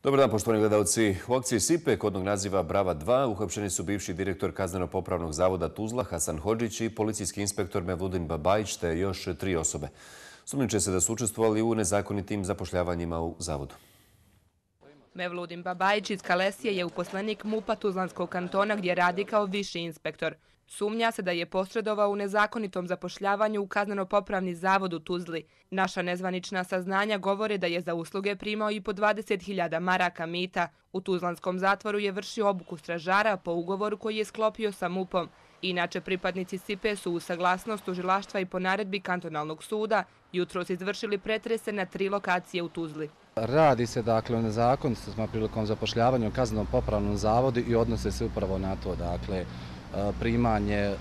Dobar dan, poštovani gledalci. U akciji SIPE kodnog naziva Brava 2 uhapšeni su bivši direktor Kazneno-popravnog zavoda Tuzla Hasan Hodžić i policijski inspektor Mevludin Babajić te još 3 osobe. Sumnjiče se da su učestvovali u nezakonitim zapošljavanjima u zavodu. Mevludin Babajić iz Kalesije je uposlenik MUP-a Tuzlanskog kantona gdje radi kao viši inspektor. Sumnja se da je posredovao u nezakonitom zapošljavanju u Kazneno-popravni zavod u Tuzli. Naša nezvanična saznanja govore da je za usluge primao i po 20.000 maraka mita. U Tuzlanskom zatvoru je vršio obuku stražara po ugovoru koji je sklopio sa MUP-om. Inače, pripadnici SIPE su u saglasnost tužilaštva i po naredbi kantonalnog suda jutros izvršili pretrese na 3 lokacije u Tuzli. Radi se dakle o nezakonitostima prilikom zapošljavanja u Kazneno-popravnom zavodu i odnose se upravo na to, dakle, primanje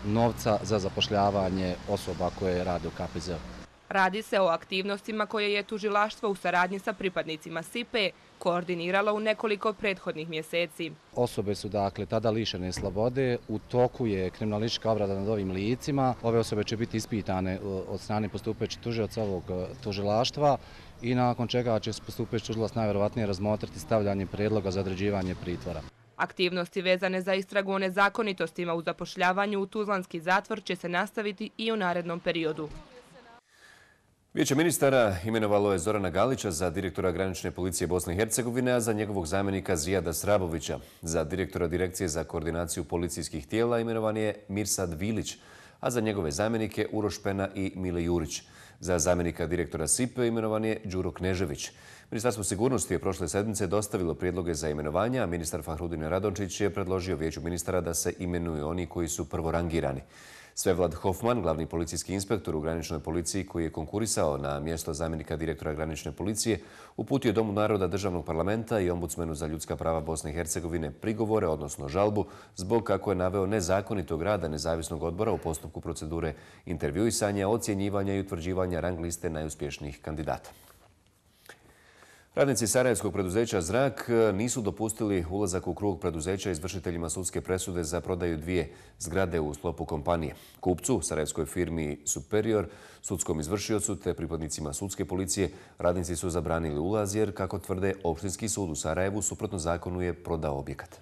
novca za zapošljavanje osoba koje rade u KPZ-u. Radi se o aktivnostima koje je tužilaštvo u saradnji sa pripadnicima SIPE koordiniralo u nekoliko prethodnih mjeseci. Osobe su dakle tada lišene slobode, u toku je kriminalistička obrada nad ovim licima. Ove osobe će biti ispitane od strane postupajućeg tužioca ovog tužilaštva i nakon čega će postupajući tužilac najvjerovatnije razmotriti stavljanje prijedloga za određivanje pritvora. Aktivnosti vezane za istragu o nezakonitostima u zapošljavanju u Tuzlanski zatvor će se nastaviti i u narednom periodu. Vijeće ministara imenovalo je Zorana Galića za direktora granične policije Bosne i Hercegovine, a za njegovog zamjenika Zijada Srabovića. Za direktora Direkcije za koordinaciju policijskih tijela imenovan je Mirsad Vilić, a za njegove zamjenike Uroš Pena i Mile Jurić. Za zamjenika direktora SIPE imenovan je Đuro Knežević. Ministarstvo sigurnosti je prošle sedmice dostavilo prijedloge za imenovanja, a ministar Fahrudin Radončić je predložio Vijeću ministara da se imenuju oni koji su prvorangirani. Svevlad Hofman, glavni policijski inspektor u graničnoj policiji koji je konkurisao na mjesto zamjenika direktora granične policije, uputio je Domu naroda Državnog parlamenta i Ombudsmenu za ljudska prava Bosne i Hercegovine prigovore, odnosno žalbu, zbog kako je naveo nezakonitog rada nezavisnog odbora u postupku procedure intervjuisanja, ocjenjivanja i utvrđivanja rang liste najuspješnijih kandidata. Radnici sarajevskog preduzeća Zrak nisu dopustili ulazak u krug preduzeća izvršiteljima sudske presude za prodaju 2 zgrade u sklopu kompanije. Kupcu, sarajevskoj firmi Superior, sudskom izvršiocu te pripadnicima sudske policije, radnici su zabranili ulaz jer, kako tvrde, Opštinski sud u Sarajevu suprotno zakonu je prodao objekat.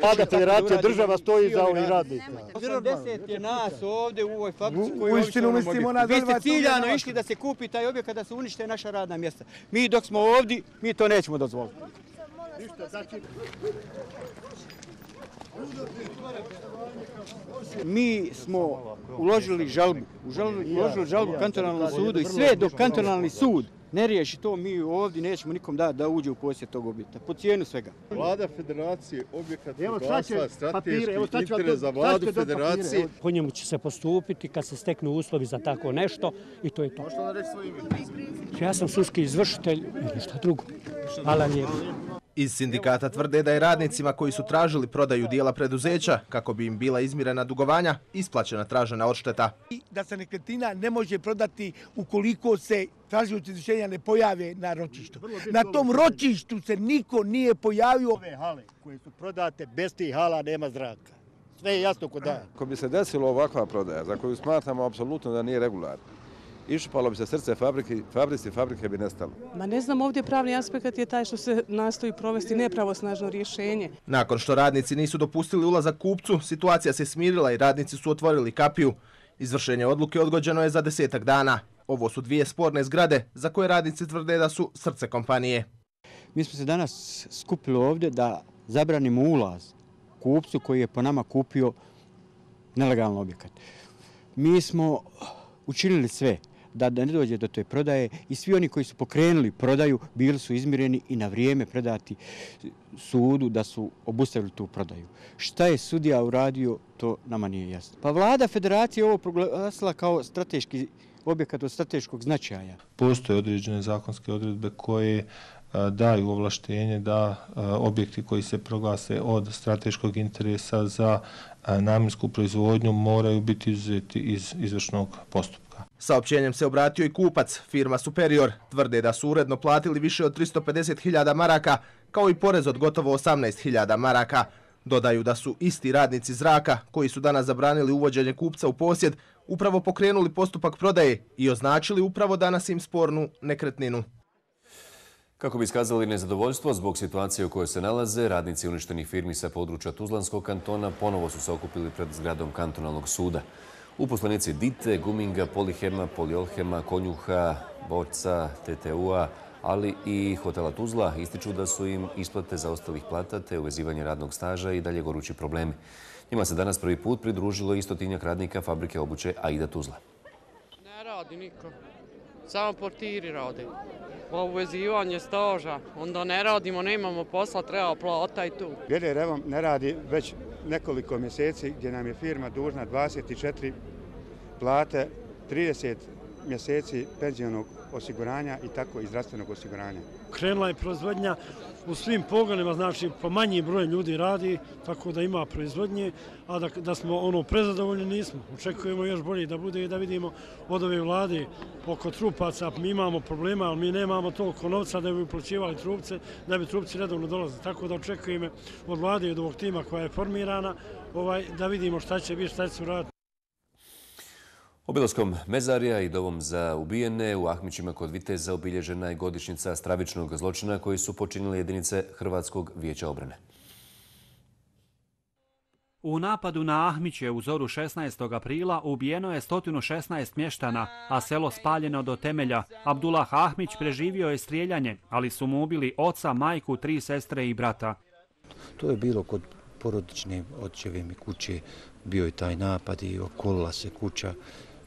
Vlada, federacija, država stoji za ovih radnika. 80 je nas ovdje u ovoj fabrici koji Vi ste ciljano išli da se kupi taj objekat, da se unište naša radna mjesta. Mi dok smo ovdje, mi to nećemo dozvoliti. Mi smo uložili žalbu kantonalnom sudu i sve dok kantonalni sud ne riješi to, mi ovdje nećemo nikom dati da uđe u posjed tog objekta, po cijenu svega. Vlada federacije, objekat proglasila strateški interes za vladu federacije. Po njemu će se postupiti kad se steknu uslovi za tako nešto i to je to. Možete li reći svoje ime? Ja sam sudski izvršitelj i ništa drugo. Hvala lijepo. Iz sindikata tvrde da je radnicima koji su tražili prodaju dijela preduzeća, kako bi im bila izmirena dugovanja, isplaćena tražena odšteta. Da se nekretnina ne može prodati ukoliko se tražioci izvršenja ne pojave na ročištu. Na tom ročištu se niko nije pojavio. Ove hale koje su prodate, bez tih hala nema zraka. Sve je jasno kod dana. Ako bi se desilo ovakva prodaja, za koju smatramo apsolutno da nije regularna, išupalo bi se srce fabrike bi nestalo. Ma ne znam, ovdje pravni aspekt je taj što se nastoji provesti nepravosnažno rješenje. Nakon što radnici nisu dopustili ulazak kupcu, situacija se smirila i radnici su otvorili kapiju. Izvršenje odluke odgođeno je za 10-ak dana. Ovo su 2 sporne zgrade za koje radnici tvrde da su srce kompanije. Mi smo se danas skupili ovdje da zabranimo ulaz kupcu koji je po nama kupio nelegalan objekat. Mi smo učinili sve da ne dođe do te prodaje i svi oni koji su pokrenuli prodaju bili su izmireni i na vrijeme predati sudu da su obustavili tu prodaju. Šta je sudija uradio, to nama nije jasno. Pa vlada federacije ovo proglasila kao strateški objekat od strateškog značaja. Postoje određene zakonske odredbe koje daju ovlaštenje da objekti koji se proglase od strateškog interesa za namjensku proizvodnju moraju biti izuzeti iz izvršnog postupka. odluka. Saopćenjem se obratio i kupac, firma Superior. Tvrde da su uredno platili više od 350.000 maraka, kao i porez od gotovo 18.000 maraka. Dodaju da su isti radnici Zraka, koji su danas zabranili uvođenje kupca u posjed, upravo pokrenuli postupak prodaje i označili upravo danas im spornu nekretninu. Kako bi iskazali nezadovoljstvo zbog situacije u kojoj se nalaze, radnici uništenih firmi sa područja Tuzlanskog kantona ponovo su se okupili pred zgradom kantonalnog suda. Uposlenici Dite, Guminga, Polihema, Poliolhema, Konjuha, Borca, TTU-a, ali i hotela Tuzla ističu da su im isplate zaostalih plata te uvezivanje radnog staža i dalje gorući problemi. Njima se danas prvi put pridružilo i 100-tinjak radnika fabrike obuće Aida Tuzla. Ne radi niko, samo portiri rade. Uvezivanje staža, onda ne radimo, nemamo posla, treba plata i tu. GDR ne radi već nekoliko mjeseci gdje nam je firma dužna 24 plate, 30 mjeseci penzionog osiguranja i tako i zdravstvenog osiguranja. Krenula je proizvodnja u svim pogonima, znači po manji broj ljudi radi, tako da ima proizvodnje, a da smo prezadovoljni nismo. Očekujemo još bolje da bude i da vidimo od ove vlade oko trupaca. Mi imamo problema, ali mi nemamo toliko novca da bi uplaćivali trupce, da bi trupci redovno dolazili. Tako da očekujemo od vlade i od ovog tima koja je formirana da vidimo šta će biti, šta će se uraditi. Obilaskom mezarija i dovom za ubijene u Ahmićima kod Viteza obilježena je godišnjica stravičnog zločina koji su počinile jedinice Hrvatskog vijeća obrane. U napadu na Ahmiće u zoru 16. aprila ubijeno je 116 mještana, a selo spaljeno do temelja. Abdullah Ahmić preživio je strijeljanje, ali su mu ubili oca, majku, 3 sestre i brata. To je bilo kod porodične očeve mi kuće, bio je taj napad i okolila se kuća.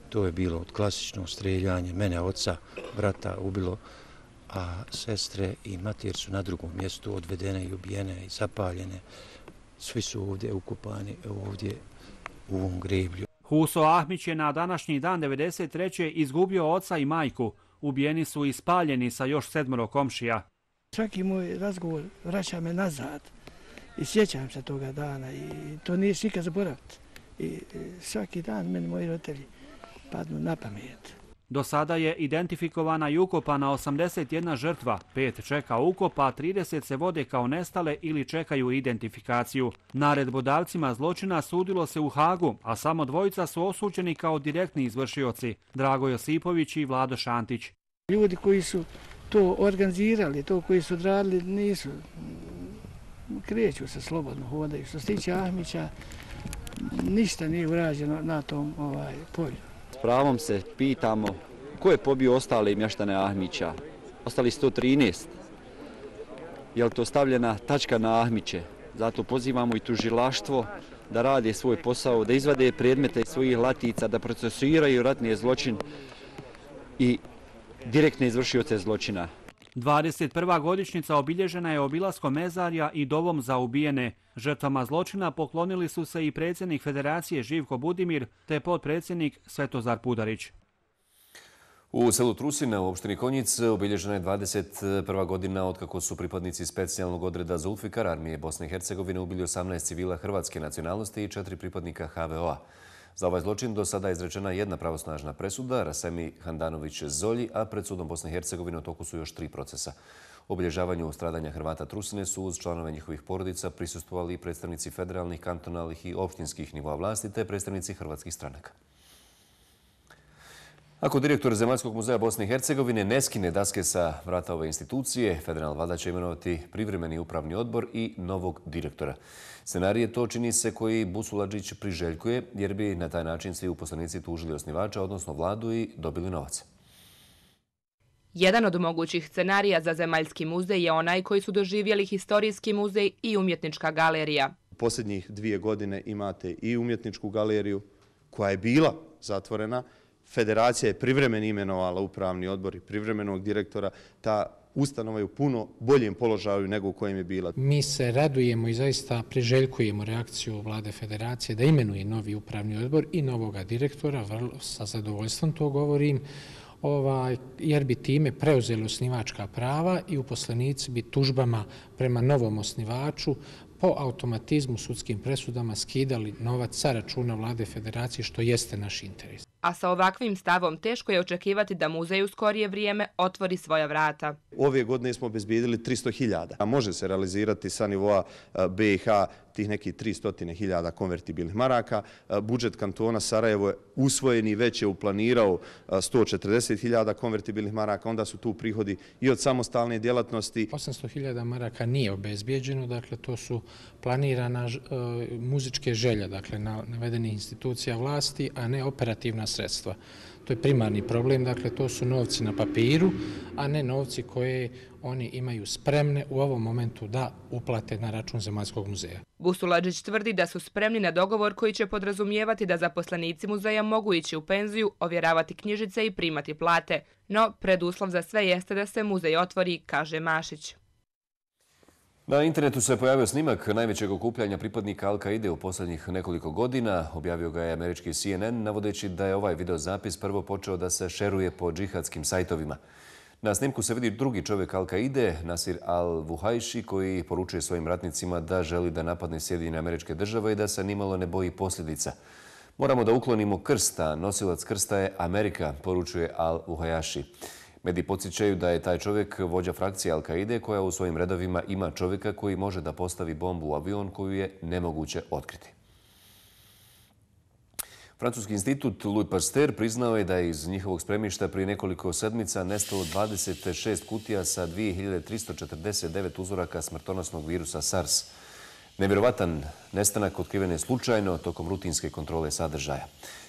To je bilo klasično strijeljanje, mene, oca, brata ubilo, a sestre i mater su na drugom mjestu odvedene i ubijene i zapaljene. Svi su ovdje ukopani, ovdje u ovom greblju. Huso Ahmić je na današnji dan 1993. izgubio oca i majku. Ubijeni su i spaljeni sa još 7 komšija. Svaki moj razgovor vraća me nazad i sjećam se toga dana i to nije nikad zaboraviti. I svaki dan meni moji roditelji padnu na pamet. Do sada je identifikovana i ukopana 81 žrtva, 5 čeka ukop, a 30 se vode kao nestale ili čekaju identifikaciju. Naredbodavcima zločina sudilo se u Hagu, a samo 2 su osuđeni kao direktni izvršioci, Drago Josipović i Vlado Šantić. Ljudi koji su to organizirali, to koji su odradili, nisu, kreću se slobodno, hodaju. Što se tiče Ahmića, ništa nije urađeno na tom polju. S pravom se pitamo ko je pobio ostale mještane Ahmića. Ostali 113. Je li to stavljena tačka na Ahmiće? Zato pozivamo i tužilaštvo da rade svoj posao, da izvade predmete iz svojih latica, da procesuiraju ratni zločin i direktne izvršioce zločina. 21. godišnjica obilježena je obilaskom mezarja i dovom za ubijene. Žrtvama zločina poklonili su se i predsjednik Federacije Živko Budimir te potpredsjednik Svetozar Pudarić. U selu Trusina u opštini Konjic obilježena je 21. godina otkako su pripadnici specijalnog odreda Zulfikar armije Bosne i Hercegovine ubili 18 civila hrvatske nacionalnosti i 4 pripadnika HVO-a. Za ovaj zločin do sada je izrečena 1 pravosnažna presuda, Rasemi Handanović Zolji, a pred sudom Bosne i Hercegovine u toku su još 3 procesa. Obilježavanju stradanja Hrvata Trusine su uz članove njihovih porodica prisustvovali i predstavnici federalnih, kantonalnih i opštinskih nivoa vlasti te predstavnici hrvatskih stranaka. Ako direktor Zemaljskog muzeja Bosne i Hercegovine ne skine daske sa vrata ove institucije, federalna vlada će imenovati privremeni upravni odbor i novog direktora. Scenarij to čini se koji Busuladžić priželjkuje jer bi na taj način svi uposlenici tužili osnivača, odnosno vladu i dobili novac. Jedan od mogućih scenarija za Zemaljski muzej je onaj koji su doživjeli Historijski muzej i Umjetnička galerija. Posljednjih 2 godine imate i Umjetničku galeriju koja je bila zatvorena. Federacija je privremeno imenovala upravni odbor i privremenog direktora. Ta ustanova je u puno boljem položaju nego u kojem je bila. Mi se radujemo i zaista priželjkujemo reakciju vlade Federacije da imenuje novi upravni odbor i novoga direktora, sa zadovoljstvom to govorim, jer bi time preuzeli osnivačka prava i uposlenici bi tužbama prema novom osnivaču po automatizmu sudskim presudama skidali novac sa računa vlade Federacije, što jeste naš interes. a sa ovakvim stavom teško je očekivati da muzej u skorije vrijeme otvori svoja vrata. Ove godine smo obezbijedili 300.000, a može se realizirati sa nivoa BiH tih nekih 300.000 konvertibilnih maraka. Budžet kantona Sarajevo je usvojen i već je uplanirao 140.000 konvertibilnih maraka, onda su tu prihodi i od samostalne djelatnosti. 800.000 maraka nije obezbijeđeno, dakle to su planirana muzičke želje, dakle navedenih institucija vlasti, a ne operativna sredstva. To je primarni problem, dakle to su novci na papiru, a ne novci koje oni imaju spremne u ovom momentu da uplate na račun Zemaljskog muzeja. Busuladžić tvrdi da su spremni na dogovor koji će podrazumijevati da zaposlenici muzeja mogu ići u penziju, ovjeravati knjižice i primati plate. No, preduslov za sve jeste da se muzej otvori, kaže Mašić. Na internetu se pojavio snimak najvećeg okupljanja pripadnika Al-Kaide u posljednjih nekoliko godina. Objavio ga je američki CNN, navodeći da je ovaj videozapis prvo počeo da se šeruje po džihadskim sajtovima. Na snimku se vidi drugi čovjek Al-Kaide, Nasir al-Vuhajši, koji poručuje svojim ratnicima da želi da napadne Sjedinjene Američke Države i da se nimalo ne boji posljedica. Moramo da uklonimo krst, a nosilac krsta je Amerika, poručuje al-Vuhajši. Mediji podsjećaju da je taj čovjek vođa frakcije Al-Kaide koja u svojim redovima ima čovjeka koji može da postavi bombu u avion koju je nemoguće otkriti. Francuski institut Louis Pasteur priznao je da je iz njihovog spremišta prije nekoliko sedmica nestalo 26 kutija sa 2349 uzoraka smrtonosnog virusa SARS. Nevjerovatan nestanak otkriven je slučajno tokom rutinske kontrole sadržaja.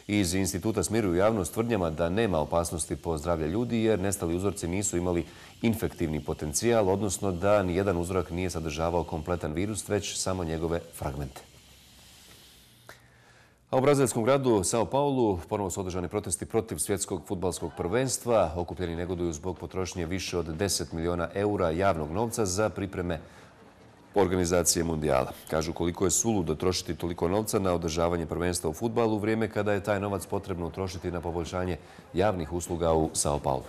Iz instituta smiruju javnost tvrdnjama da nema opasnosti po zdravlje ljudi jer nestali uzorci nisu imali infektivni potencijal, odnosno da nijedan uzorak nije sadržavao kompletan virus, već samo njegove fragmente. A u brazilskom gradu São Paulo ponovo su održani protesti protiv svjetskog fudbalskog prvenstva. Okupljeni negoduju zbog potrošnje više od 10 miliona eura javnog novca za pripreme organizacije mundijala. Kažu koliko je suludo trošiti toliko novca na održavanje prvenstva u fudbalu u vrijeme kada je taj novac potrebno utrošiti na poboljšanje javnih usluga u São Paulo.